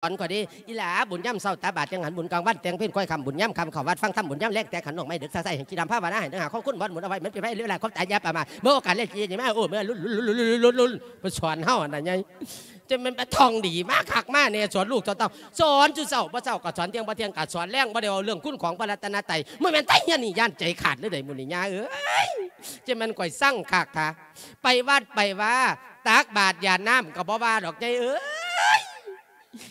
ສອນຂ້ອຍເດ້ ອີຫຼາ ບຸນຍາມເຊົ້າຕັກບາດຈັງຫັນ ບຸນກາງວັນແຕ່ງເພນຄ້ອຍຄ່ຳ ບຸນຍາມຄ່ຳເຂົ້າວັດຟັງທຳ ບຸນຍາມແລງແຕ່ຂັນດອກໄມ້ ດຶກສາໃສໃຫ້ກິນນ້ຳພາວະນາ ໃຫ້ເໜືອຫາຂອງຄຸນ ບ່ອນບຸນເອົາໄວ້ ມັນເປັນໄພເວລາຂອງຕາຍ ຢ່າປະໝາດ ບໍ່ໂອກາດແລກຊິເຮັດຫຍັງມາ ໂອ້ ເມື່ອລຸນ ລຸນ ລຸນ ລຸນ ລຸນ ເພິ່ນສອນເຮົາຫັ້ນນະໃຫຍ່ ຈະແມ່ນໄປທ່ອງດີມາຄັກມາແນ່ ສອນລູກສອນເຕົ້າ ສອນສູ່ເຊົ້າ ບໍ່ເຊົ້າກໍສອນ ທ່ຽງບໍ່ທ່ຽງກໍສອນແລງ ບໍ່ໄດ້ເວົ້າເລື່ອງຄຸນຂອງພະລັດຕະນະໄຕ ບໍ່ແມ່ນໄຕເຮືອນນີ້ ຢ້ານໃຈຂາດເລີຍໃດມື້ນີ້ ຍ່າເອີຍ ຈະແມ່ນຂ້ອຍຊັງຄັກທາ ໄປວັດໄປວາ ຕັກບາດຢາດນ້ຳກໍບໍ່ວ່າດອກ ໃຫຍ່ເອີຍ.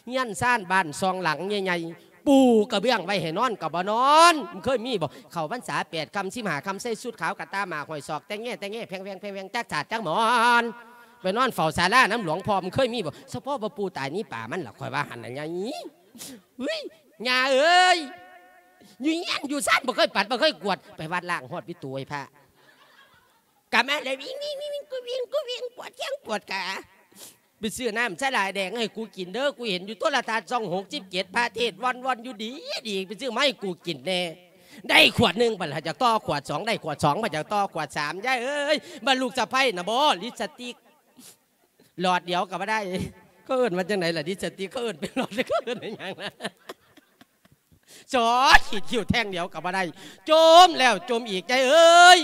ເຮືອນຊານບ້ານຊ່ອງຫຼັງໃຫຍ່ໆ ປູກະເບື້ອງໄວ້ໃຫ້ນອນກໍບໍ່ນອນ ມັນເຄີຍມີບໍ່? ເຂົ້າພັນສາແປດຄ່ຳສິບຫ້າຄ່ຳ ໃສ່ຊຸດຂາວກະຕ່າໝາກຫ້ອຍສອກ ແຕ່ແງ່ແຕ່ແງ່ ແພງແວງແພງແວງ ຈັກສາດຈັກໝອນ ໄປນອນເຝົ້າສາລານຳຫຼວງພໍ່ ມັນເຄີຍມີບໍ່? ສະເພາະວ່າປູຕາຍໜີປ່າມັນລະ ຂ້ອຍວ່າຫັ້ນນະ ຍາຍ ເຮີ້ຍ ຍ່າເອີຍ ຢູ່ເຮືອນຢູ່ຊານບໍ່ເຄີຍປັດ ບໍ່ເຄີຍກວດ ໄປວັດລ້າງຮອດວິຕູໃຫ້ພະ ກັບມາແລ້ວວິ່ງ ວິ່ງ ວິ່ງ ກູວິ່ງ ກູວິ່ງ ປວດແຂ້ງປວດຂາ ໄປຊື້ນ້ຳສາຫຼາຍແດງໃຫ້ກູກິນເດີ ກູເຫັນຢູ່ໂທລະທັດຊ່ອງຫົກສິບເຈັດ ພະເທດວ່ອນໆຢູ່ດີໆ ໄປຊື້ມາໃຫ້ກູກິນແດ່ ໄດ້ຂວດໜຶ່ງ ບັດລະຢາກຕໍ່ຂວດສອງ ໄດ້ຂວດສອງ ບັດຢາກຕໍ່ຂວດສາມ ຍາຍເອີຍ ບັດລູກສະໃພ້ນະບໍ່ ລິບສະຕິກຫຼອດດຽວກໍບໍ່ໄດ້ ເຂົາເອີ້ນວ່າຈັ່ງໃດລະ ລິບສະຕິກ ເຂົາເອີ້ນເປັນຫຼອດ ເຂົາເອີ້ນຫຍັງນະ? ສອດຂີດຄິ້ວແທ່ງດຽວກໍບໍ່ໄດ້ ຈົ່ມແລ້ວຈົ່ມອີກ ຍາຍເອີຍ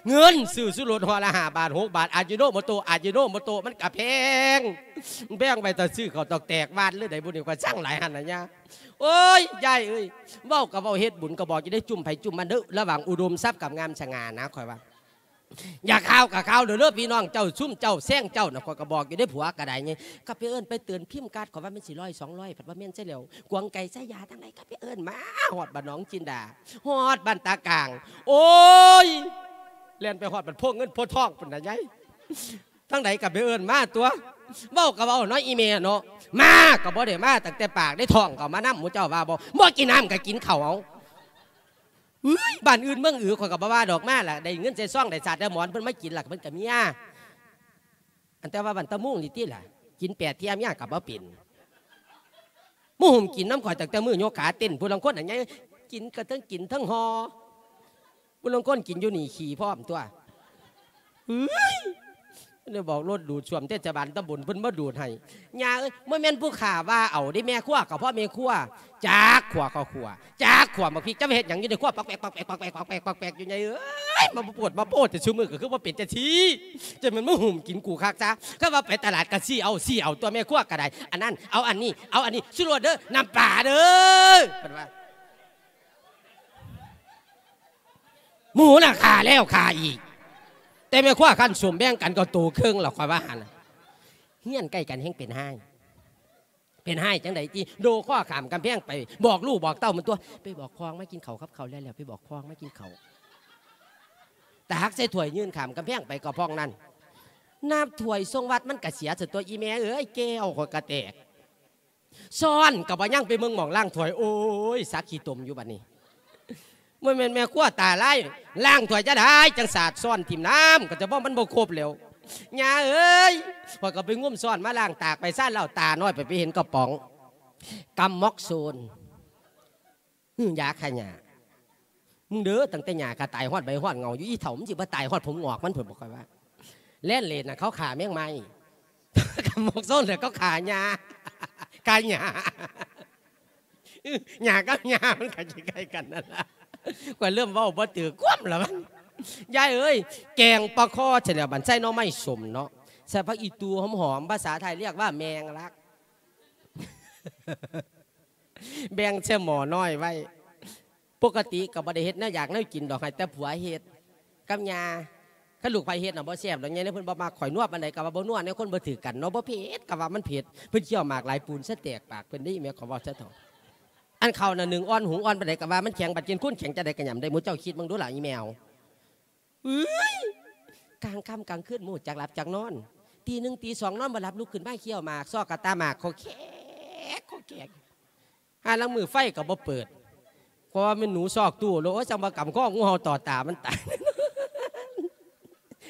ເງິນຊື້ຊູລົດຫໍ່ລະຫ້າບາດຫົກບາດ ອາຢິໂນໂມໂຕະ ອາຢິໂນໂມໂຕະ ມັນກະແພງ ມັນແພງໄປແຕ່ຊື້ເຂົ້າຕອກແຕກວາດເລີຍໃດ ບຸນນີ້ຂ້ອຍຊັງຫຼາຍຫັ້ນນະຍາ ໂອ້ຍ ຍາຍເອີຍ ເວົ້າກໍເວົ້າ ເຮັດບຸນກໍບອກ ຢ່າໄດ້ຈຸ້ມໃຜຈຸ້ມມັນເດີ ລະຫວ່າງອຸດົມຊັບກັບງາມສະຫງ່ານະ ຂ້ອຍວ່າ ຢ່າຂ່າວກໍຂ່າວເດີ ພີ່ນ້ອງເຈົ້າ ຊຸມເຈົ້າແຊງເຈົ້ານະ ຂ້ອຍກໍບອກຢູ່ເດ້ ຜົວກໍໄດ້ໄງ ກໍໄປເອີ້ນໄປເຕືອນ ພິມກາດ ຂ້ອຍວ່າມັນຊິຮ້ອຍສອງຮ້ອຍ ພັດວ່າແມ່ນຊະແລ້ວ ກວາງໄກ່ໄຊຍາທາງໃດ ກໍໄປເອີ້ນມາ ຮອດບ້ານໜອງຈິນດາ ຮອດບ້ານຕາກາງ ໂອ້ຍ ແລ່ນໄປຮອດບ້ານໂພເງິນໂພທອງພຸ້ນນະຍາຍ ທາງໃດກໍໄປເອີ້ນມາຕົວະ ເວົ້າກໍເວົ້າເນາະ ອີແມ່ເນາະ ມາກໍບໍ່ໄດ້ມາຕັ້ງແຕ່ປາກເດ້ ທ້ອງກໍເອົາມານຳ ໝູ່ເຈົ້າວ່າບໍ່ ບໍ່ກິນນ້ຳກໍກິນເຂົ້າເອົາ. ເອີຍ ບ້ານອື່ນເມືອງອື່ນ ຂ້ອຍກໍບໍ່ວ່າດອກ ມາລະ ໄດ້ເງິນໃສ່ຊອງ ໄດ້ສາດໄດ້ໝອນ ເພິ່ນມາກິນລະ ເພິ່ນກໍເມຍ ອັນແຕ່ວ່າບ້ານຕາມຸງນີ້ຕິລະ ກິນແປດເທື່ອເມຍກໍບໍ່ເປັນ ມາຫຸ້ມກິນນຳຂ້ອຍຕັ້ງແຕ່ມື້ຍົກຂາເຕັ້ນ ຜູ້ລາງຄົນອັນໃຫຍ່ ກິນກໍເທິງກິນເທິງຫໍ່ ຜູ້ລາງຄົນກິນຢູ່ນີ້ຂີ້ພ້ອມຕົວະ ເອີຍ ໄດ້ບອກລົດດູດສ້ວມເທດສະບານຕຳບົນເພິ່ນມາດູດໃຫ້ ຍ່າເອີຍ ບໍ່ແມ່ນຜູ້ຂ້າວ່າເອົາເດ້ ແມ່ຄົວກໍເພາະແມ່ຄົວ ຈັກຂົ້ວເຂົ້າຂົ້ວ ຈັກຂົ້ວໝາກພິກ ຈະມາເຮັດຫຍັງຢູ່ໃນຄົວ ປອກແປກ ປອກແປກ ປອກແປກ ປອກແປກ ປອກແປກ ຢູ່ໃນເອີຍ ມາໂພດມາໂພດແຕ່ຊຸມື້ກໍຄືວ່າເປັນຈັ່ງຊີ້ ຈະແມ່ນມາຫຸ້ມກິນກູຄັກຊະ ຄັນວ່າໄປຕະຫຼາດກໍຊີ້ເອົາ ຊີ້ເອົາຕົວະ ແມ່ຄົວກໍໄດ້ ອັນນັ້ນເອົາອັນນີ້ ເອົາອັນນີ້ ຊູໂລດເດີ ນ້ຳປາເດີ ເພິ່ນວ່າ ໝູນະຂ້າແລ້ວຂ້າອີກ ແຕ່ແມ່ຄົວຄັນສົມແບ່ງກັນກໍໂຕເຄິ່ງລະ ຂ້ອຍວ່າຫັ້ນນະ ເຮືອນໃກ້ກັນແຮ່ງເປັນຮ້າຍ ເປັນຮ້າຍຈັ່ງໃດຕິ ໂດຄໍຂ້າມກຳແພງໄປ ບອກລູກບອກເຕົ້າມັນຕົວະ ໄປບອກຄອງມາກິນເຂົ້າກັບເຂົາແລ້ວ ແລ້ວໄປບອກຄອງມາກິນເຂົ້າ ຕັກໃສ່ຖ້ວຍຍື່ນຂ້າມກຳແພງໄປກໍພອງນັ້ນ ນ້ຳຖ້ວຍສົ່ງວັດມັນກະເສຍຊັ້ນຕົວະ ອີແມ່ເອີຍ ແກ້ວຂ້ອຍກະແຕກ ຊ້ອນກໍບໍ່ຍັງ ໄປເບິ່ງໝ່ອງລ້າງຖ້ວຍ ໂອ້ຍ ສັກຂີ້ຕົມຢູ່ບັດນີ້ ບໍ່ແມ່ນແມ່ຄົວຕາລາຍ ລ້າງຖ້ວຍຈະໄດ້ ຈັ່ງສາດຊ້ອນຖິ້ມນ້ຳ ກໍຈະບໍ່ ມັນບໍ່ຄົບແລ້ວ ຍ່າເອີຍ ຂ້ອຍກໍໄປງຸ້ມຊ້ອນມາລ້າງ ຕາກໄປຊານເຫຼົ້າ ຕານ້ອຍໄປ ໄປເຫັນກະປ໋ອງ ກຳມອກໂຊນ ຫື ຢາຂ້າຫຍ້າ ມຶງເດີ ຕັ້ງແຕ່ຫຍ້າຂ້າຕາຍຮອດໃບຮອດເຫງົາຢູ່ ອີ່ເຖົ້າ ມັນຊິບໍ່ຕາຍຮອດຜົມງອກມັນພຸ້ນບໍ່ ຂ້ອຍວ່າ ແລ່ນເລນນະ ເຂົາຂ້າແມງໄມ້ ກຳມອກໂຊນແລ້ວ ເຂົາຂ້າຫຍ້າ ຂ້າຫຍ້າ ຫຍ້າກັບຫຍ້າມັນກໍໃກ້ໆກັນນັ້ນລະ ຂ້ອຍເລີ່ມເວົ້າບໍ່ຖືກຄວາມລະບັດ ຍາຍເອີຍ ແກງປາຄໍ່ ໃສ່ແລ້ວບັດໃສ່ໜໍ່ໄມ້ສົ້ມເນາະ ໃສ່ຜັກອີ່ຕູຫອມໆ ພາສາໄທລຽກວ່າແມງລັກ ແບ່ງໃສ່ໝໍ້ນ້ອຍໄວ້ ປົກກະຕິກໍບໍ່ໄດ້ເຮັດແນວຢາກແນວກິນດອກ ໃຫ້ແຕ່ຜົວເຮັດກັບຍ່າ ຄັນລູກໃຜເຮັດນະບໍ່ແຊບດອກ ຍາຍເພິ່ນບໍ່ມັກ ຂ້ອຍນົວປານໃດກໍວ່າບໍ່ນົວ ແນວຄົນບໍ່ຖືກກັນເນາະ ບໍ່ເຜັດກໍວ່າມັນເຜັດ ເພິ່ນຄ້ຽວໝາກຫຼາຍປູນສະແຕກປາກເພິ່ນເດ້ ແມ່ຂໍເວົ້າຊະເຖາະ ອັນເຂົ້ານະໜຶ້ງອ່ອນ ຫຸງອ່ອນປານໃດກໍວ່າມັນແຂງ ບັດກິນຄູນແຂງຈັ່ງໃດກໍຫຍ້ຳໄດ້ ໝູ່ເຈົ້າຄິດເບິ່ງດູລະ ອີແມ່ ເອີຍ ກາງຄ່ຳກາງຄືນບໍ່ຮູ້ຈັກຫຼັບຈັກນອນ ຕີໜຶ່ງຕີສອງນອນບໍ່ຫຼັບ ລຸກຂຶ້ນມາຄ້ຽວໝາກ ຊອກກະຕ່າໝາກ ຄໍແຄກ ຄໍແຄກ ຫາລາງມື້ໄຟກໍບໍ່ເປີດ ເພາະວ່າແມ່ນໜູຊອກຕູ້ໂລດ ໂອ້ຍ ຈັ່ງວ່າກຳຄໍງ ງູເຫົ່າຕໍ່ຕາມັນຕາຍ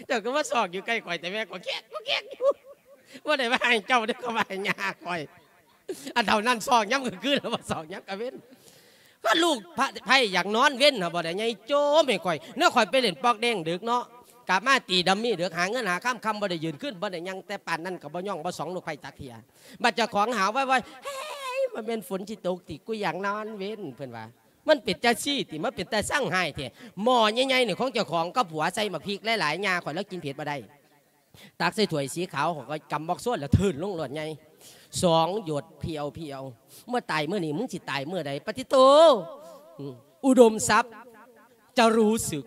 ເຈົ້າກໍມາຊອກຢູ່ໃກ້ຂ້ອຍແຕ່ແມ່ ຄໍແຄກ ຄໍແຄກຢູ່ ບໍ່ໄດ້ວ່າໃຫ້ເຈົ້າເດ້ ກໍວ່າໃຫ້ຍ່າຂ້ອຍ ອັນເທົ່ານັ້ນຊອກຍາມກາງຄືນ ແລ້ວບໍ່ຊອກຍາມກາງເວັນ ກໍລູກໃຜຢາກນອນເວັນຫັ້ນບໍ່ໄດ້ໃຫຍ່ໂຈມໃຫ້ຂ້ອຍ ແນວຂ້ອຍໄປຫຼິ້ນປອກແດງດຶກເນາະ ກັບມາຕີດັມມີ້ດຶກ ຫາເງິນຫາຄຳ ຄ່ຳບໍ່ໄດ້ຢືນ ຄືນບໍ່ໄດ້ຍ່າງ ແຕ່ປານນັ້ນກໍບໍ່ຍ່ອງບໍ່ສ່ອງລູກໃຜຈັກເທື່ອ ບັດເຈົ້າຂອງຫາວໄວໆ ມັນແມ່ນຝົນຊິຕົກຕິ ກູຢາກນອນເວັນ ເພິ່ນວ່າ. ມັນເປັນຈັ່ງຊີ້ຕິ ມັນເປັນຕາຊັງຮ້າຍແທ້. ໝໍ້ໃຫຍ່ໆນີ້ຂອງເຈົ້າຂອງກັບຜົວໃສ່ໝາກພິກຫຼາຍໆ ຍ່າຂ້ອຍລາວກິນເຜັດບໍ່ໄດ້. ຕັກໃສ່ຖ້ວຍສີຂາວ ຂ້ອຍກໍກຳໝອກໂຊນ ແລ້ວເທີນລົງໂລດໃຫຍ່ ສອງຢົດພຽວໆ. ເມື່ອຕາຍມື້ນີ້ ມຶງຊິຕາຍເມື່ອໃດ? ປະຕິໂຕ ອືມ ອຸດົມຊັບ ຈະຮູ້ສຶກ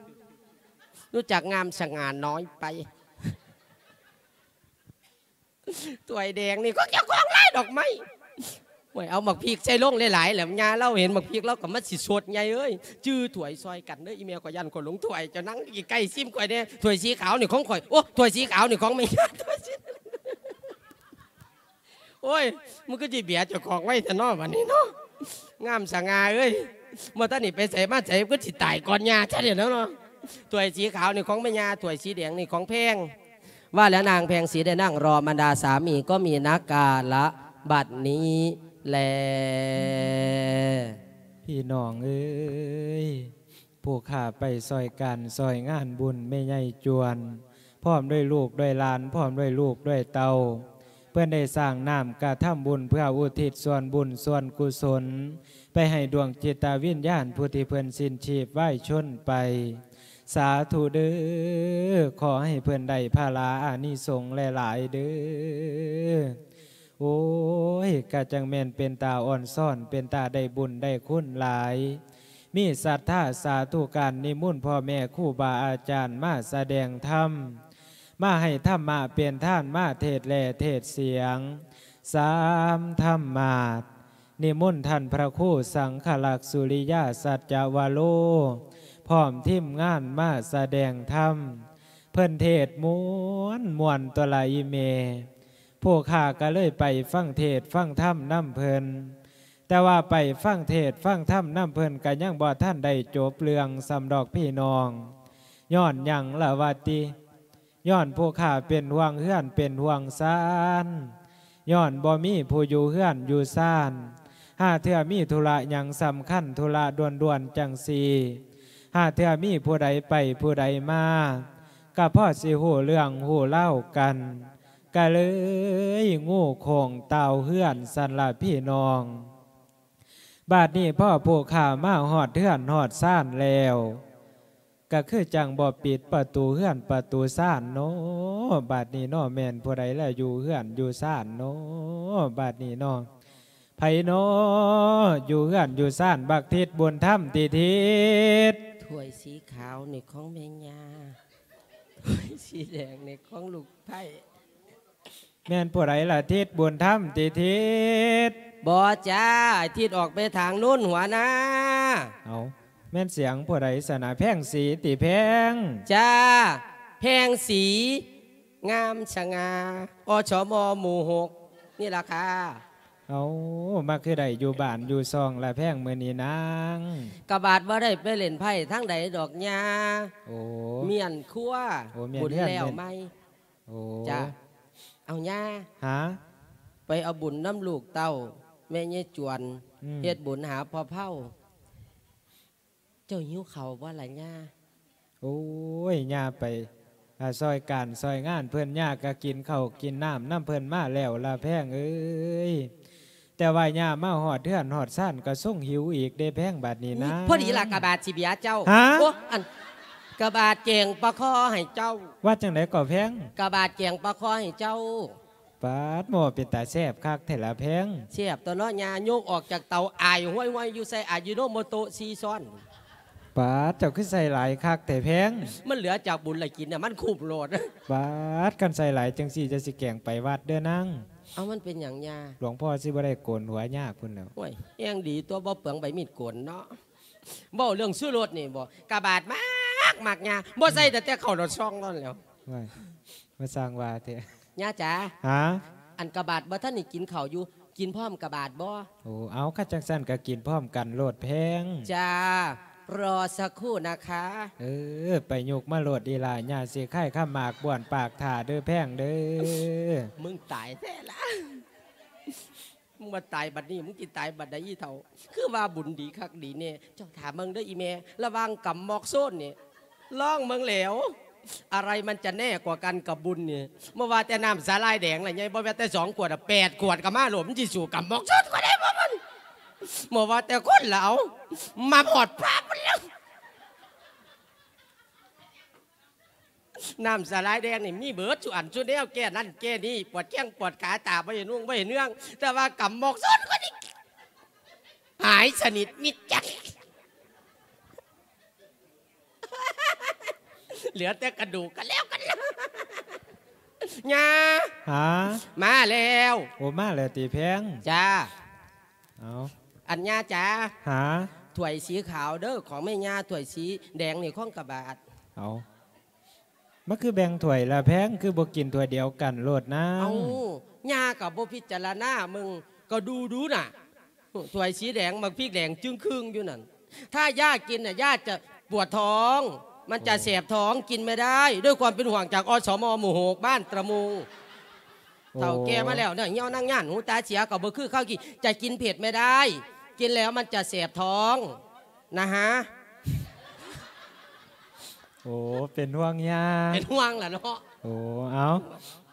ຮູ້ຈັກງາມສະຫງ່ານ້ອຍໄປ. ຖ້ວຍແດງນີ້ຂອງເຈົ້າຂອງລາຍດອກໄມ້. ໂອ້ຍ ເອົາໝາກພິກໃສ່ລົງຫຼາຍໆ ແລ້ວຍ່າລາວເຫັນໝາກພິກລາວກໍມາຊິສົດໃຫຍ່ເອີຍ. ຈື່ຖ້ວຍຊ່ອຍກັນເດີ ອີແມ່ ຂ້ອຍຢ້ານຂ້ອຍຫຼົງຖ້ວຍ. ເຈົ້ານັ່ງໃກ້ໆ ຊິມຂ້ອຍແດ່. ຖ້ວຍສີຂາວນີ້ຂອງຂ້ອຍ. ໂອ້ ຖ້ວຍສີຂາວນີ້ຂອງແມ່ຍ່າ. ໂອ້ຍ ມັນຄືຊິເບຍເຈົ້າຂອງໄວແທ້ເນາະ ບັດນີ້ເນາະ. ງາມສະຫງ່າເອີຍ ບໍ່ທັນໄດ້ໄປໃສມາໃສ ຄືຊິຕາຍກ່ອນຍ່າຊະແລ້ວເນາະ. ຖ້ວຍສີຂາວນີ້ຂອງແມ່ຍ່າ ຖ້ວຍສີແດງນີ້ຂອງແພງ. ວ່າແລ້ວນາງແພງສີໄດ້ນັ່ງລໍບັນດາສາມີກໍມີນະກາລະບັດນີ້ແລ. ພີ່ນ້ອງເອີຍ ຜູ້ຂ້າໄປຊ່ອຍການຊ່ອຍງານບຸນແມ່ໃຫຍ່ຈວນ ພ້ອມດ້ວຍລູກດ້ວຍຫຼານ ພ້ອມດ້ວຍລູກດ້ວຍເຕົ້າ ເພິ່ນໄດ້ສ້າງນ້ຳກະທຳບຸນເພື່ອອຸທິດສ່ວນບຸນສ່ວນກຸສົນ ໄປໃຫ້ດວງຈິດຕະວິນຍານຜູ້ທີ່ເພິ່ນສິ້ນຊີບວາຍຊົນໄປ. ສາທຸເດີ້ ຂໍໃຫ້ເພິ່ນໄດ້ພະລາອານິສົງຫຼາຍໆເດີ້. ໂອ້ຍ ກະຈັ່ງແມ່ນເປັນຕາອ່ອນຊ້ອນ ເປັນຕາໄດ້ບຸນໄດ້ຄຸນຫຼາຍ. ມີສັດທາສາທຸການນິມົນພໍ່ແມ່ຄູບາອາຈານມາສະແດງທຳ ມາໃຫ້ທຳມະເປັນທານ ມາເທດແລະເທດສຽງສາມທຳມາດ. ນິມົນທ່ານພະຄູສັງຄະລັກ ສຸລິຍາ ສັດຈະວະໂລ ພ້ອມທີມງານມາສະແດງທຳ. ເພິ່ນເທດມ່ວນໆ ຕົວະລະອີແມ່. ຜູ້ຂ້າກໍເລີຍໄປຟັງເທດຟັງທຳນຳເພິ່ນ. ແຕ່ວ່າໄປຟັງເທດຟັງທຳນຳເພິ່ນກໍຍັງບໍ່ທັນໄດ້ຈົບເລື່ອງສ່ຳດອກພີ່ນ້ອງ. ຍ້ອນຫຍັງລະວະຕິ? ຍ້ອນຜູ້ຂ້າເປັນຫ່ວງເຮືອນເປັນຫ່ວງຊານ, ຍ້ອນບໍ່ມີຜູ້ຢູ່ເຮືອນຢູ່ຊານ. ຫາເທື່ອມີທຸລະຫຍັງສຳຄັນ ທຸລະດ່ວນໆຈັ່ງຊີ້, ຫາເທື່ອມີຜູ້ໃດໄປຜູ້ໃດມາ, ກໍພໍຊິຮູ້ເລື່ອງຮູ້ລາວກັນ, ກໍເລີຍງູໂຄ້ງຕ່າວເຮືອນຊັ້ນລະພີ່ນ້ອງ. ບາດນີ້ພໍຜູ້ຂ້າມາຮອດເຮືອນຮອດຊານແລ້ວ, ກະຄືຈັ່ງບໍ່ປິດປະຕູເຮືອນປະຕູຊານເນາະ ບາດນີ້ເນາະ. ແມ່ນຜູ້ໃດລະຢູ່ເຮືອນຢູ່ຊານເນາະ ບາດນີ້ເນາະ. ໃຜເນາະຢູ່ເຮືອນຢູ່ຊານ ບັກທິດບຸນທຳຕິທິດ? ຖ້ວຍສີຂາວນີ້ຂອງແມ່ຍ່າ, ຖ້ວຍສີແດງນີ້ຂອງລູກໃພ້. ແມ່ນຜູ້ໃດລະ ທິດບຸນທຳຕິທິດ? ບໍ່ຈ້າ, ທິດອອກໄປທາງໂນ້ນຫົວນາ. ເອົ້າ, ແມ່ນສຽງຜູ້ໃດຊັ້ນນະ? ແພງສີຕິແພງ? ຈ້າ, ແພງສີ ງາມສະຫງ່າ ອສມ ໝູ່ຫົກນີ້ລະຄ່າ. ເອົ້າ, ມາຄືໄດ້ຢູ່ບ້ານຢູ່ຊ່ອງລະແພງມື້ນີ້ນາງ? ກະບາດບໍ່ໄດ້ໄປຫຼິ້ນໄພ້ທາງໃດດອກຍ່າ. ໂອ້, ມ້ຽນຄົວ. ໂອ້, ມ້ຽນເຮືອນ ບຸນແລ້ວໃໝ່. ໂອ້ ຈ້າ. ເອົາຍ່າ. ຫາ? ໄປເອົາບຸນນຳລູກເຕົ້າແມ່ຍາຍຈວນ. ອືມ. ເຮັດບຸນຫາພໍ່ເຖົ້າ. ເຈົ້າຫິວເຂົ້າບໍ່ລະຍ່າ? ໂອ້ຍ, ຍ່າໄປ ອາ, ຊ່ອຍການຊ່ອຍງານເພິ່ນ, ຍ່າກໍກິນເຂົ້າກິນນ້ຳນຳເພິ່ນມາແລ້ວລະແພງເອີຍ. ແຕ່ວ່າຍ່າມາຮອດເຮືອນຮອດຊານກໍຊົງຫິວອີກເດ້ແພງ ບາດນີ້ນະ. ພໍດີລະກະບາດຊິເບຍເຈົ້າ. ຫາ? ໂອ້ ອັນ ກະບາດແກງປາຄໍ່ໃຫ້ເຈົ້າ. ວ່າຈັ່ງໃດກໍແພງ? ກະບາດແກງປາຄໍ່ໃຫ້ເຈົ້າ. ປາດ ໝໍ້ເປັນຕາແຊບຄັກແທ້ລະແພງ. ແຊບຕົວະເນາະຍ່າ, ຍົກອອກຈາກເຕົາອາຍຫ້ວຍໆຢູ່ ໃສ່ອາຢິໂນໂມໂຕະສີ່ຊ້ອນ. ປາດ ເຈົ້າຄືໃສ່ຫຼາຍຄັກແທ້ແພງ. ມັນເຫຼືອຈາກບຸນລະກິນນະ, ມັນຄຸ້ມໂລດ. ປາດ ຄັນໃສ່ຫຼາຍຈັ່ງຊີ້ ຈະຊິແກງໄປວັດເດີນາງ. ເອົ້າ ມັນເປັນຫຍັງຍ່າ? ຫຼວງພໍ່ຊິບໍ່ໄດ້ໂກນຫົວຍາກພຸ້ນແຫຼ້ວ. ໂອ້ຍ ແຮງດີຕົວະ, ບໍ່ເປືອງໃບມີດໂກນເນາະ. ເວົ້າເລື່ອງຊູລົດນີ້ບໍ, ກະບາດມັກ ມັກຍ່າ, ບໍ່ໃສ່ ອືມ ແຕ່ແຕ່ເຂົ້າດອກຊອງນັ້ນແຫຼ້ວ. ໂອ້ຍ ມາສ້າງວ່າແທ້. ຍ່າຈ໋າ. ຫາ? ອັນກະບາດບໍ່ທັນໄດ້ກິນເຂົ້າຢູ່, ກິນພ້ອມກະບາດບໍ່? ໂອ້ ເອົາ, ຄັນຈັ່ງຊັ້ນກະກິນພ້ອມກັນໂລດແພງ. ຈ້າ, ລໍສັກຄູ່ນະຄະ. ເອີ, ໄປຍົກມາໂລດອີ່ຫຼ້າ, ຍ່າຊິຄາຍຄຳໝາກບ້ວນປາກຖ້າເດີແພງເດີ. ມຶງຕາຍແທ້ລະ. ມຶງວ່າຕາຍບັດນີ້, ມຶງຊິຕາຍບັດໃດອີ່ເຖົ້າ? ຄືວ່າບຸນດີຄັກດີແນ່. ເຈົ້າຖ້າເບິ່ງເດີອີ່ແມ່, ລະຫວ່າງກຳໝອກໂຊນນີ້ ລອງເບິ່ງແຫຼ້ວ, ອະໄລມັນຈະແນ່ກວ່າກັນກັບບຸນນີ້. ບໍ່ວ່າແຕ່ນ້ຳສາຫຼ່າຍແດງລະໃຫຍ່, ບໍ່ແມ່ນແຕ່ສອງຂວດ, ແປດຂວດກໍມາໂລດ, ມັນຊິສູ້ກຳໝອກໂຊນຂ້ອຍໄດ້ບໍ່ມັນ? ບໍ່ວ່າແຕ່ຄົນລະເອົາ ມາຮອດພະພຸ້ນແລ້ວ. ນ້ຳສາລາຍແດງນີ້ມີເບິດສູ່ອັນສູ່ແນວ ແກ້ນັ້ນແກ້ນີ້ ປວດແຂ້ງປວດຂາ ຕາບໍ່ເຫັນຮຸ່ງບໍ່ເຫັນເຮືອງ ແຕ່ວ່າກຳໝອກຊອນກວ່ານີ້ ຫາຍສະໜິດມິດຈັດ. ເຫຼືອແຕ່ກະດູກກັນແລ້ວກັນແລ້ວ. ຍ່າ ຫາ ມາແລ້ວ. ໂອ້ ມາແລ້ວຕິແພງ? ຈ້າ. ເອົາ ອັນຍ່າຈ໋າ ຫາ ຖ້ວຍສີຂາວເດີ້ ຂອງແມ່ຍ່າ ຖ້ວຍສີແດງນີ້ຂອງກະບາດ. ເອົາ ມັນຄືແບ່ງຖ້ວຍລະແພງ ຄືບໍ່ກິນຖ້ວຍດຽວກັນໂລດນາງ? ເອົ້າ ຍ່າກໍບໍ່ພິຈາລະນາເບິ່ງ ກໍດູດູນະ ຖ້ວຍສີແດງ ໝາກພິກແດງຈຶ່ງຄຶ່ງຢູ່ນັ້ນ ຖ້າຍ່າກິນນະ ຍ່າຈະປວດທ້ອງ ມັນຈະແສບທ້ອງ ກິນໄມ່ໄດ້ ດ້ວຍຄວາມເປັນຫ່ວງຈາກ ອສມ ໝູ່ຫົກ ບ້ານຕະມຸງ. ໂອ້ ເຖົ້າແກ່ມາແລ້ວເນາະ ຫ່ຽວນາງຍ່ານ ຫູຕາເສຍກໍບໍ່ຄືເຂົາກີ້ ຈະກິນເຜັດໄມ່ໄດ້ ກິນແລ້ວມັນຈະແສບທ້ອງນະຮະ. ໂອ້ ເປັນຫ່ວງຍ່າ ເປັນຫ່ວງລະເນາະ. ໂອ້ ເອົາ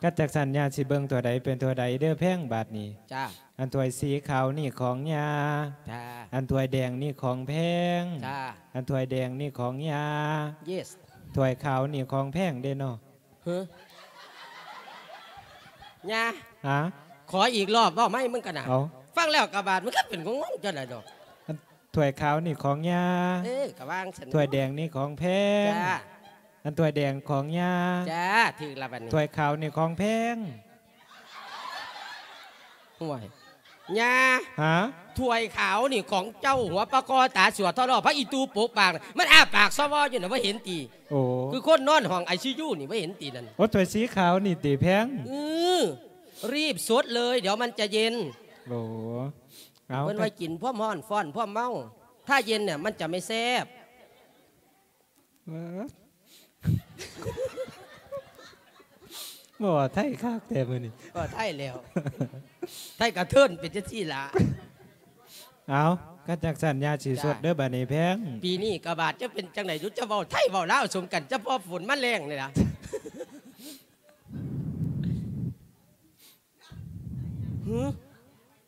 ຄັນຈັ່ງຊັ້ນຍ່າຊິເບິ່ງຖ້ວຍໃດເປັນຖ້ວຍໃດເດີ້ແພງບາດນີ້. ຈ້າ. ອັນຖ້ວຍສີຂາວນີ້ຂອງຍ່າ. ຈ້າ. ອັນຖ້ວຍແດງນີ້ຂອງແພງ. ຈ້າ. ອັນຖ້ວຍແດງນີ້ຂອງຍ່າ. Yes. ຖ້ວຍຂາວນີ້ຂອງແພງເດ້ເນາະ. ຫື ຍ່າ ຫາ ຂໍອີກລອບ ເວົ້າໃໝ່ມຶງກະນະ. ເອົາ ຟັງແລ້ວກະບາດ ມັນກະເປັນງົງໆ ຈັ່ງໃດດອກ. ອັນຖ້ວຍຂາວນີ້ຂອງຍ່າ. ເອີ ກະວ່າຈັ່ງຊັ້ນ. ຖ້ວຍແດງນີ້ຂອງແພງ. ຈ້າ. ອັນຖ້ວຍແດງຂອງຍ່າ. ຈ້າ ຖືກລະບາດນີ້. ຖ້ວຍຂາວນີ້ຂອງແພງ. ຫ້ວຍ ຍ່າ ຫາ ຖ້ວຍຂາວນີ້ຂອງເຈົ້າ ຫົວປາຄໍຕາສວດທໍລໍ ພະອີຕູປົກປາກ ມັນອ້າປາກຊໍວໍຢູ່ນະ ບໍ່ເຫັນຕິ? ໂອ້ ຄືຄົນນອນຫ້ອງໄອຊີຢູນີ້ ບໍ່ເຫັນຕິນັ້ນ? ໂອ້ ຖ້ວຍສີຂາວນີ້ຕິແພງ? ອື ຣີບສົດເລີຍ ດຽວມັນຈະເຢັນ. ໂອ້ ເອົາ ເພິ່ນວ່າກິນພ້ອມຮ້ອນ ຟ້ອນພ້ອມເມົາ ຖ້າເຢັນນະ ມັນຈະໄມ່ແຊບ. ເອີ ບໍ່ວ່າໄທຄັກແທ້ມື້ນີ້. ກໍໄທແລ້ວ ໄທກະເທີນເປັນຈັ່ງຊີ້ລະ. ເອົາ ຄັນຈັ່ງຊັ້ນຍ່າຊິສົດເດີ້ບາດນີ້ແພງ. ປີນີ້ກະບາດຈະເປັນຈັ່ງໃດ ຈະເວົ້າໄທເວົ້າລາວສົມກັນ ຈະພໍຝົນມາແລ້ງນີ້ລະ. ຫື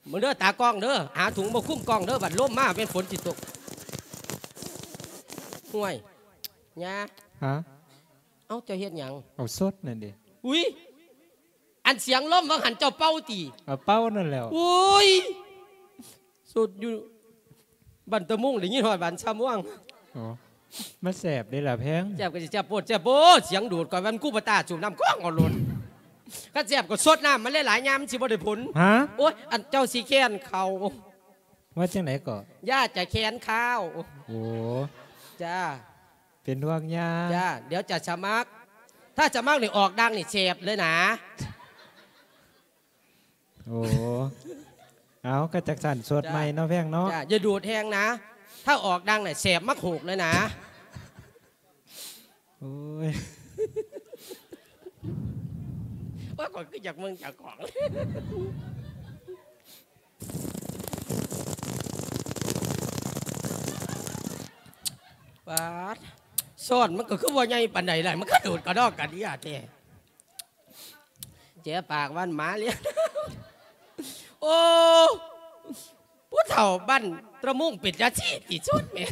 ເບິ່ງເດີ້ຕາກ້ອງເດີ້ ຫາຖົງມາຄຸມກ້ອງເດີ້ ບັດລົມມາແມ່ນຝົນຊິຕົກ. ຫ້ວຍ ຍ່າ ຫາ ເອົ້າ ເຈົ້າເຮັດຫຍັງ? ເອົາສົດນັ້ນເດ. ອຸ້ຍ ອັນສຽງລົມວ່າງຫັ້ນເຈົ້າເປົ່າຕິ? ເອົາເປົ່ານັ້ນແຫຼ້ວ. ໂອ້ຍ ສົດຢູ່ ບ້ານຕະມຸງໄດ້ຍິນຮອດບ້ານຊະມ່ວງ. ອໍ ມັນແຊບເດ້ລະແພງ. ແຊບກໍຊິແຊບໂພດແຊບໂພດ ສຽງດູດ ຂ້ອຍວ່າມັນກູປະຕາສູບນ້ຳກອງເອົາໂລດ. ຄັນແຊບກໍສົດນ້ຳມັນຫຼາຍໆ ຍາມມັນຊິບໍ່ໄດ້ຜົນ. ຫາ ໂອ້ຍ ອັນເຈົ້າຊິແຄນເຂົ້າ. ວ່າຈັ່ງໃດກໍ? ຍ່າຈະແຄນຂ້າວ. ໂອ້ ຈ້າ ເປັນຫ່ວງຍ່າ. ຈ້າ ດຽວຈະສະໝັກ ຖ້າສະໝັກນີ້ອອກດັງນີ້ແຊບເລີຍນາ. ໂອ້ ເອົາ ກະຈັກຊັ້ນ ສົດໃໝ່ເນາະແພງເນາະ. ຈ້າ ຢ່າດູດແຮງນາ ຖ້າອອກດັງນະແສບໝາກຫູກເລີຍນາ. ໂອ້ຍ ໂອ້ຍ ຂ້ອຍຄືຢາກເບິ່ງເຈົ້າຂອງ. ປາດ ຊ້ອນມັນກໍຄືບໍ່ໃຫຍ່ປານໃດລະ ມັນກະໂດດກະດອກກະເດຍແທ້. ແຈະປາກວັນໝາລ້ຽງ. ໂອ້ ຜູ້ເຖົ້າບ້ານຕະມຸງເປັນຈັ່ງຊີ້ຕິ ຊົນແໝ່.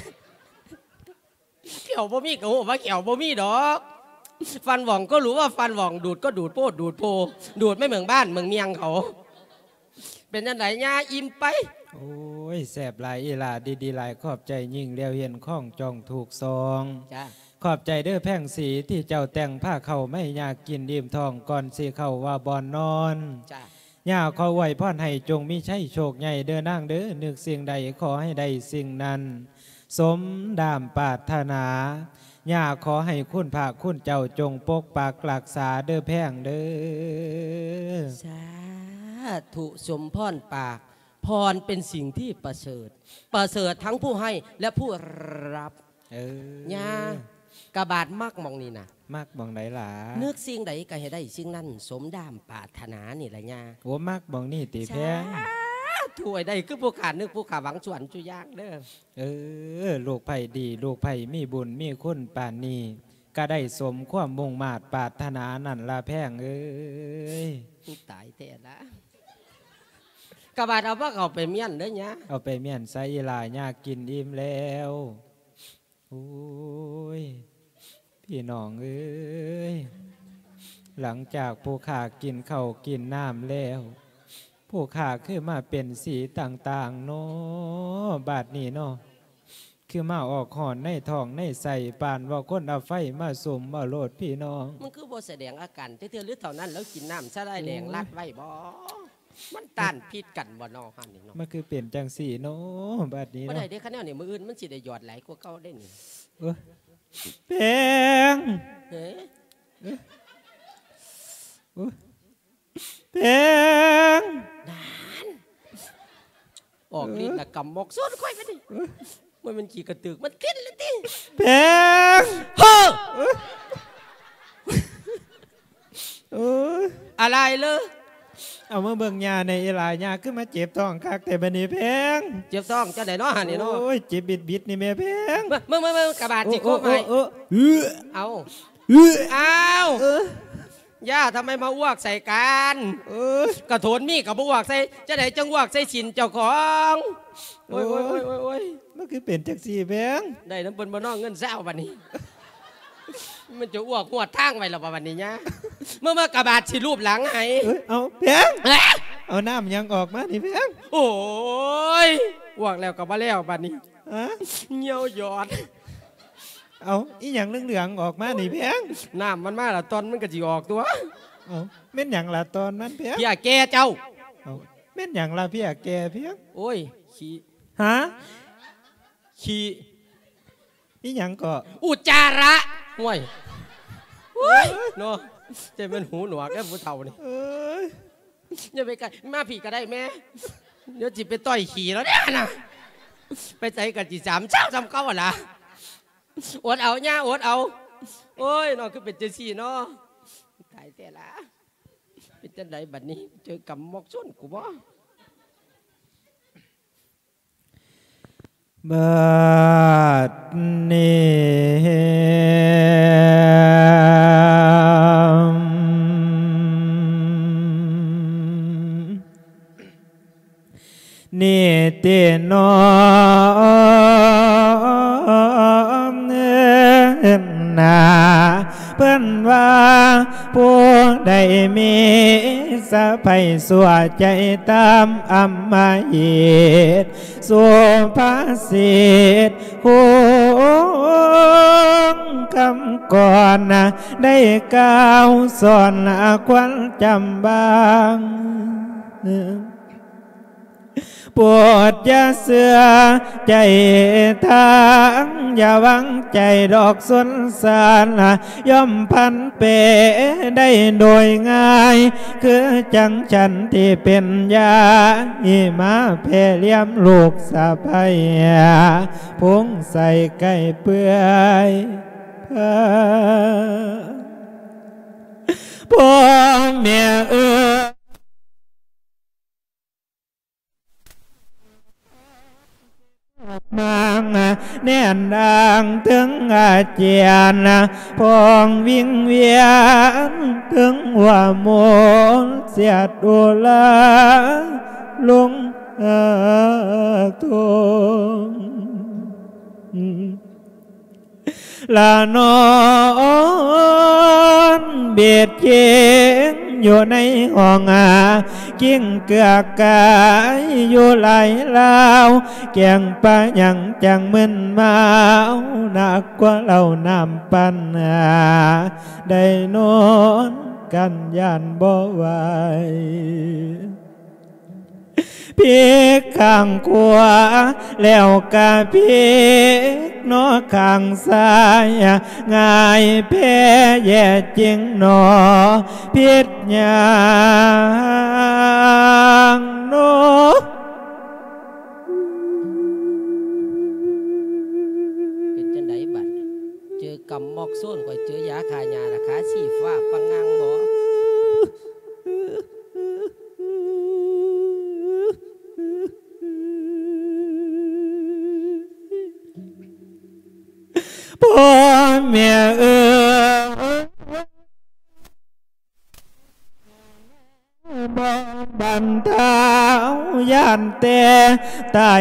ແຂ້ວບໍ່ມີກໍຮູ້ວ່າແຂ້ວບໍ່ມີດອກ. ຟັນຫວ່ອງກໍຮູ້ວ່າຟັນຫວ່ອງ ດູດກໍດູດໂພດດູດໂພ ດູດໄມ່ເໝິງບ້ານເໝິງເມຽງເຂົາ. ເປັນຈັ່ງໃດຍ່າ ອີ່ມໄປ? ໂອ້ຍ ແຊບຫຼາຍອີ່ຫຼ້າ ດີໆຫຼາຍ ຂອບໃຈຍິ່ງ ຫຼຽວເຫັນຂອງຈອງຖືກຊອງ. ຈ້າ ຂອບໃຈເດີ້ແພງສີ ທີ່ເຈົ້າແຕ່ງພາເຂົ້າມາໃຫ້ຍ່າກິນອີ່ມທ້ອງ ກ່ອນຊິເຂົ້າວ່າບ່ອນນອນ. ຈ້າ ຍ່າຂໍອວຍພອນໃຫ້ຈົ່ງມີໄຊໂຊກໃຫຍ່ເດີ້ນາງເດີ້ ນຶກສິ່ງໃດຂໍໃຫ້ໄດ້ສິ່ງນັ້ນ ສົມດາມປາດຖະໜາ. ຍ່າຂໍໃຫ້ຄຸນພະຄຸນເຈົ້າຈົ່ງປົກປັກລັກສາເດີ້ແພງເດີ້. ສາທຸ ສົມພອນປາກ. ພອນເປັນສິ່ງທີ່ປະເສີດ ປະເສີດທັງຜູ້ໃຫ້ ແລະ ຜູ້ຮັບ. ເອີ ຍ່າ ກະບາດມັກໝ່ອງນີ້ນະ. ມັກໝ່ອງໃດຫຼ້າ? ນຶກສິ່ງໃດກະໃຫ້ໄດ້ສິ່ງນັ້ນ ສົມດາມປາດຖະໜານີ້ລະຍ່າ. ໂອ້ ມັກໝ່ອງນີ້ຕິແພງ? ສາທຸ ໃຫ້ໄດ້ຄືຜູ້ຂ້ານຶກ ຜູ້ຂ້າຫວັງ ສູ່ອັນສູ່ຢ່າງເດີ້. ເອີ ລູກໃຜດີ ລູກໃຜມີບຸນມີຄຸນປານນີ້ ກະໄດ້ສົມຄວາມມຸ່ງມາດປາດຖະໜານັ້ນລະແພງເອີຍ. ຕາຍແທ້ລະ. ກະບາດເອົາພາເຂົ້າໄປມ້ຽນເດີຍາ. ເອົາໄປມ້ຽນໃສ່ອີ່ຫຼ້າ ຍາກິນອີ່ມແລ້ວ. ໂອ້ຍ ພີ່ນ້ອງເອີຍ, ຫຼັງຈາກຜູ້ຂ້າກິນເຂົ້າກິນນ້ຳແລ້ວ, ຜູ້ຂ້າຄືມາເປັນສີຕ່າງໆເນາະ ບາດນີ້ເນາະ. ຄືມາອອກຮ້ອນໃນທ້ອງໃນໄສ້ ປານວ່າຄົນເອົາໄຟມາສຸມເອົາໂລດພີ່ນ້ອງ. ມັນຄືບໍ່ສະແດງອາການຈັກເທື່ອ ຫຼືເທົ່ານັ້ນລາວກິນນ້ຳສາຫຼ່າຍແດງລັດໄວ້ບໍ? ມັນຕ້ານຜິດກັນບໍ່ເນາະ ຫັ້ນນີ້ເນາະ. ມັນຄືເປັນຈັ່ງຊີ້ເນາະ ບາດນີ້ເນາະ. ບໍ່ໄດ້ເດ້ ຄັນແນວນີ້ ມື້ອື່ນມັນຊິໄດ້ຍອດຫຼາຍກວ່າເກົ່າເດ້ນີ້. ເອີ ແພງ ເອີ ເອີ ແພງ ນັ້ນ ອອກລິດລະກຳໝອກຊົນຂ້ອຍບາດນີ້. ເອີ ມັນແມ່ນຂີ້ກະຕຶກ ມັນຕິດລະຕິ ແພງ ເຮີ້ ເອີ ໂອ້ຍ ອາໄລເລີ ເອົາມາເບິ່ງຍ່າແດ່ອີຫຼາ ຍ່າຄືມາເຈັບທ້ອງຄັກແທ້ບາດນີ້ແພງ. ເຈັບທ້ອງຈັ່ງໃດເນາະຫັ້ນນີ້ເນາະ? ໂອ້ຍ ເຈັບບິດໆນີ້ແມ່ແພງ. ມາ ມາ ມາ ກະບາດຊິໂຄບໃຫ້. ໂອ້ ໂອ້ ເອົາ ເອີ ອ້າວ ເອີ ຢ່າ ທຳໄມມາອ້ວກໃສ່ກັນ? ເອີ ກະໂຖນມີກະບໍ່ອ້ວກໃສ່ ຈັ່ງໃດຈັ່ງອ້ວກໃສ່ສິນເຈົ້າຂອງ? ໂອ້ຍ ໂອ້ຍ ໂອ້ຍ ໂອ້ຍ ມັນຄືເປັນຈັ່ງຊີ້ແພງ? ໄດ້ນຳເພິ່ນບໍ່ນໍ ເງິນຊາວບາດນີ້? ມັນຈະອ້ວກຮອດທາງໄວ້ລະບໍ່ບາດນີ້ຍາ? ມາ ມາ ກະບາດຊິລູບຫຼັງໃຫ້. ເອີ ເອົາແພງ ເອີ ເອົານ້ຳຫຍັງອອກມານີ້ແພງ? ໂອ້ຍ ອ້ວກແລ້ວກະບໍ່ແລ້ວບາດນີ້. ຮະ? ຍ່ຽວຢອດ. ເອົາ ອີຫຍັງເຫຼືອງໆອອກມານີ້ແພງ? ນ້ຳມັນມາລະຕ່ອນມັນກະຊິອອກຕົວະ. ເອົາ ແມ່ນຫຍັງລະຕ່ອນມັນແພງ? ເພຍແກ່ເຈົ້າ. ເອົາ ແມ່ນຫຍັງລະເພຍແກ່ແພງ? ໂອ້ຍ ຂີ້. ຮະ? ຂີ້. ອີຫຍັງເກາະ? ອຸດຈາລະ. ໂອ້ຍ ໂອ້ຍ ເນາະ ຈະແມ່ນຫູໜວກເດ້ຜູ້ເຖົ້ານີ້. ເອີຍ ຢ່າໄປໃກ້ ມາພີ້ກະໄດ້ແມ່. ດຽວຊິໄປຕ່ອຍຂີ້ລາວເດ້ຫັ້ນນະ. ໄປໃສກະຊິສາມຊາວສ່ຳເກົ່າຫັ້ນລະ. ອົດເອົາຍ່າ ອົດເອົາ. ໂອ້ຍ ເນາະ ຄືເປັນຈັ່ງຊີ້ເນາະ. ຕາຍແທ້ລະ. ເປັນຈັ່ງໃດບາດນີ້ ເຈີກຳໝອກຊົນກູບໍ? ບາດນີ້ ນີ້ຕິນ້ອງເອີຍນາ ເພິ່ນວ່າຜູ້ໃດມີສະໃພຊົ່ວໃຈຕາມອຳມະຫິດ ສຸພາສິດຄູງຄຳກ່ອນ ໄດ້ກ່າວສອນຄວັນຈຳບາງ ໂປດຢ່າເຊື່ອໃຈທາງ ຢ່າຫວັງໃຈດອກສົນສານ ຍ່ອມຜັນເປໄດ້ໂດຍງ່າຍ ຄືຈັ່ງສັນທີ່ເປັນຍາຍ ມາແຜ່ລຽມລູກສະໃພ ພົງໃສ່ໄກ່ເປື່ອຍ ພໍ່ແມ່ເອີຍ. ມາແໜ້ນດາງເຖິງອາຈຽນ ພອງວິງວຽນເຖິງຫົວໝົດ ສຽດອຸລາລົງຫາທົ່ງ ລະນອນບຽດຄຽງຢູ່ໃນຫ້ອງ ກິ້ງເກືອກກາຍຢູ່ຫຼາຍລາວ ແກງປາຫຍັງຈັ່ງມຶນເມົາ ໜັກກວ່າເຫຼົ້ານ້ຳປັ່ນ ໄດ້ນອນກັນຢ້ານບໍ່ໄຫວ. ພິກຂ້າງຂວາ ແລ້ວກະພິກເນາະຂ້າງຊ້າຍ ງ່າຍແພ້ແຍ່ຈິງເນາະ ພິດຫຍັງເນາະ? ເປັນຈັ່ງໃດບັດ? ເຈີກຳໝອກໂຊນ ຂ້ອຍເຈີຢາຂ້າຫຍ້າລະຂາຊີ້ຟ້າປັງງັງບໍ? ພໍ່ແມ່ເອີຍ ບໍ່ບັນເທົາ ຢ້ານແຕ່ຕາຍ